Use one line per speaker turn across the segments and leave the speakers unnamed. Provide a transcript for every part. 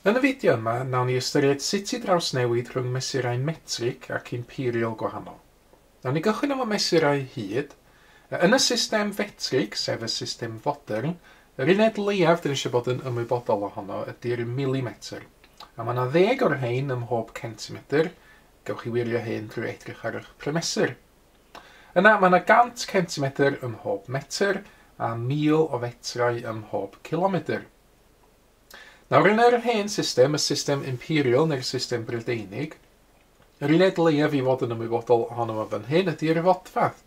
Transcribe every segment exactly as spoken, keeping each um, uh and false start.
Yn y fideo yma, nawn ni ystyried sut i drawsnewid rhwng mesurau metrig ac imperial gwahanol. Nawn ni gychwyn efo mesurau hyd. Yn y system fetrig, sef y system fodern, yr uned leiaf dyn ni eisiau bod yn ymwybodol ohono ydy'r milimetr. A mae yna ddeg o'r rhain ym mhob centimetr. Gewch chi wirio hyn drwy edrych ar eich prymesur. Yna mae yna gant centimetr ym mhob metr a mil o fetrau ym mhob kilometr. Nawr yn yr hen system, y system imperial neu'r system Brydeinig, yr uned leiaf i fod yn ymwybodol ohono fo fan hyn ydy'r fodfadd.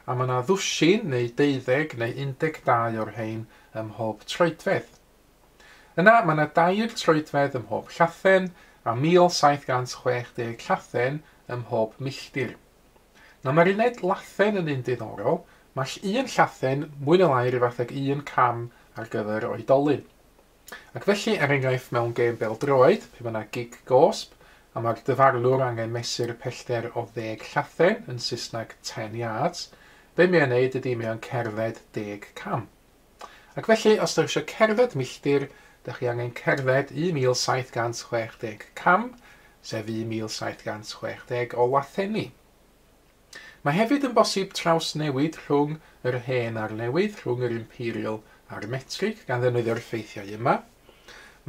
A mae yna ddwsin neu deuddeg neu un deg dau o'r rhain ym mhob troedfedd. Yna mae yna dair troedfedd ym mhob llathen a mil saith gant chwech deg llathen ym mhob milltir. Nawr mae'r uned lathen yn un diddorol, mae un llathen mwy neu lai rhyw fath ag un cam ar gyfer oedolyn. Ac felly, er enghraifft, mewn gêm bêl-droed, pe mae yna gig gosb, a mae'r dyfarnwr angen mesur pellter o ddeg llathen, yn Saesneg ten yards, be mae o'n neud ydy mae o'n cerdded deg cam. Ac felly, os ydych chi eisiau cerdded milltir, ydych chi angen cerdded un mil saith gant chwech deg cam, sef un mil saith gant chwech deg o lathenni. Mae hefyd yn bosib trawsnewid rhwng yr hen a'r newydd, rhwng yr imperial a'r metrig, gan ddefnyddio'r ffeithiau yma.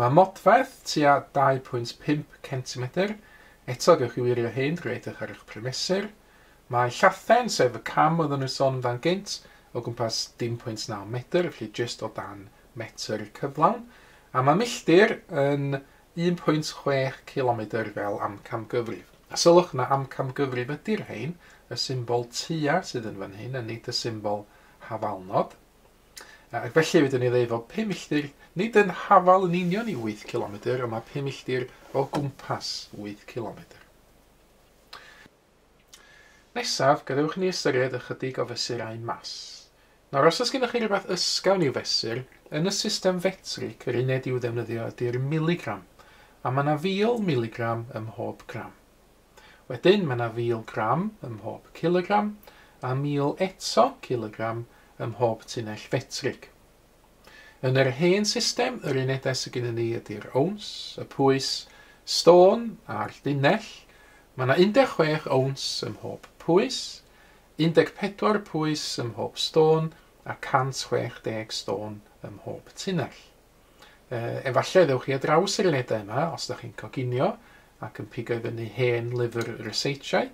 Mae modfedd tua dau pwynt pump centimetr, eto gewch chi wirio hyn drwy edrych ar eich prymesur. Mae llathen, sef y cam oedden nhw'n sôn amdan gynt, o gwmpas dim pwynt naw metr, felly jyst o dan metr cyflawn. A mae milltir yn un pwynt chwech kilometr fel amcamgyfrif. A sylwch na amcamgyfrif ydy'r rhain, y symbol tua sydd yn fan hyn, a nid y symbol hafalnod. Ac felly fedrwn ni ddeud fod pum milltir nid yn hafal yn union i wyth kilometr, ond mae pum milltir o gwmpas wyth kilometr. Nesaf, gadewch ni ystyried ychydig o fesurau mas. Nawr, os oes gennych chi rhywbeth ysgafn i'w fesur, yn y system fetrig, yr uned i'w ddefnyddio ydy'r miligram, a mae yna fil miligram ym mhob gram. Wedyn, mae yna fil gram ym mhob kilogram, a mil eto kilogram ym mhob tunnell fetrig. Yn yr hen system, yr unedau sydd gennym ni ydy'r owns, y pwys stôn a'r dunnell. Mae yna un deg chwech owns ym mhob pwys, un deg pedwar pwys ym mhob stôn a cant chwech deg stôn ym mhob tunnell. E, efallai ddewch chi ar draws yr unedau yma os ydych chi'n coginio ac yn pigo i fyny hen lyfr ryseitiau,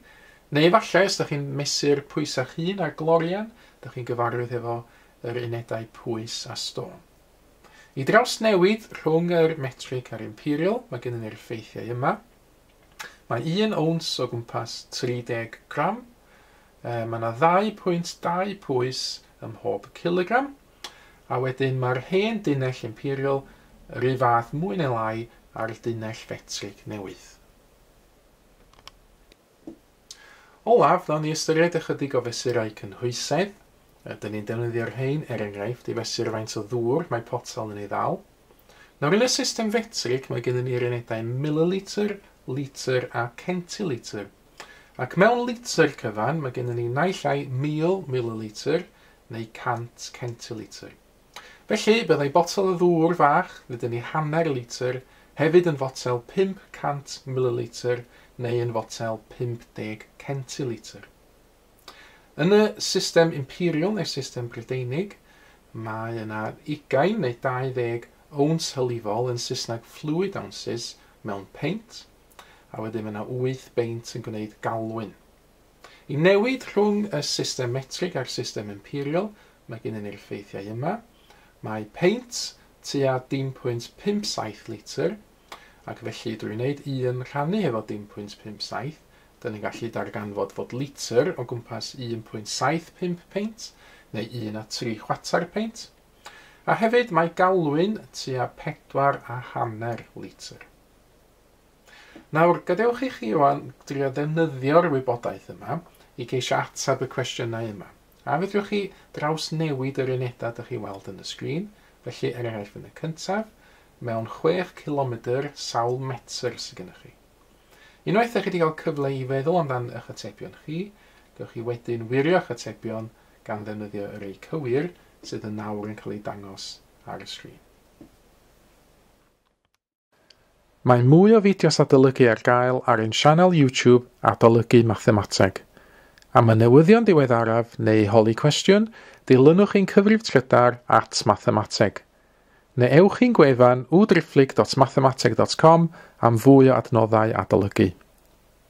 neu efallai os ydych chi'n mesur pwysa'ch hun ar glorian, ydych chi'n gyfarwydd efo yr unedau pwys a stôn. I drawsnewid rhwng yr metrig a'r imperial, mae gennym ni'r ffeithiau yma. Mae un owns o gwmpas tri deg gram, e, mae yna ddau pwynt dau pwys ym mhob kilogram, a wedyn mae'r hen dunnell imperial yr un fath mwy neu lai a'r dunnell fetrig newydd. Olaf, nawn ni ystyried ychydig o fesurau cynhwysedd. Dyn ni'n defnyddio'r rhain, er enghraifft, i fesur faint o ddŵr mae potel yn ei ddal. Nawr, yn y system fetrig, mae gennym ni'r unedau mililitr, litr a centilitr. Ac mewn litr cyfan, mae gennym ni naill ai mil mililitr neu cant centilitr. Felly, byddai botel o ddŵr fach, ddydyn ni hanner litr, hefyd yn fotel pump cant mililitr neu yn fotel pump deg centilitr. Yn y system imperial neu'r system Brydeinig, mae yna ugain neu dau ddeg owns hylifol yn Saesneg fluid ounces mewn peint, a wedyn mae yna wyth beint yn gwneud galwyn. I newid rhwng y system metrig a'r system imperial, mae gennym ni'r ffeithiau yma. Mae peint tua dim pwynt pump saith litr, ac felly drwy wneud un rhannu efo dim pwynt pump saith, dyn ni'n gallu darganfod fod litr o gwmpas un pwynt saith pump peint, neu un a tri chwarter peint. A hefyd mae galwyn tua pedwar a hanner litr. Nawr, gadewch i chi wan drio ddefnyddio'r wybodaeth yma i geisio ateb y cwestiynau yma. A fedrwch chi drawsnewid yr unedau dych chi weld yn y sgrin, felly er enghraifft yn y cyntaf, mewn chwech kilometr sawl metr sydd gennych chi. Unwaith ydych chi wedi cael cyfle i feddwl amdan eich atebion chi, gewch chi wedyn wirio eich atebion gan ddefnyddio yr ei cywir sydd yn nawr yn cael ei dangos ar y sgrin. Mae mwy o fideos adolygu ar gael ar ein sianel YouTube Adolygu Mathemateg. Am y newyddion diweddaraf neu holi cwestiwn, dilynwch ein cyfrif trydar at mathemateg. Neu ewch i'n gwefan w driphlyg dot mathemateg dot com am fwy o adnoddau adolygu.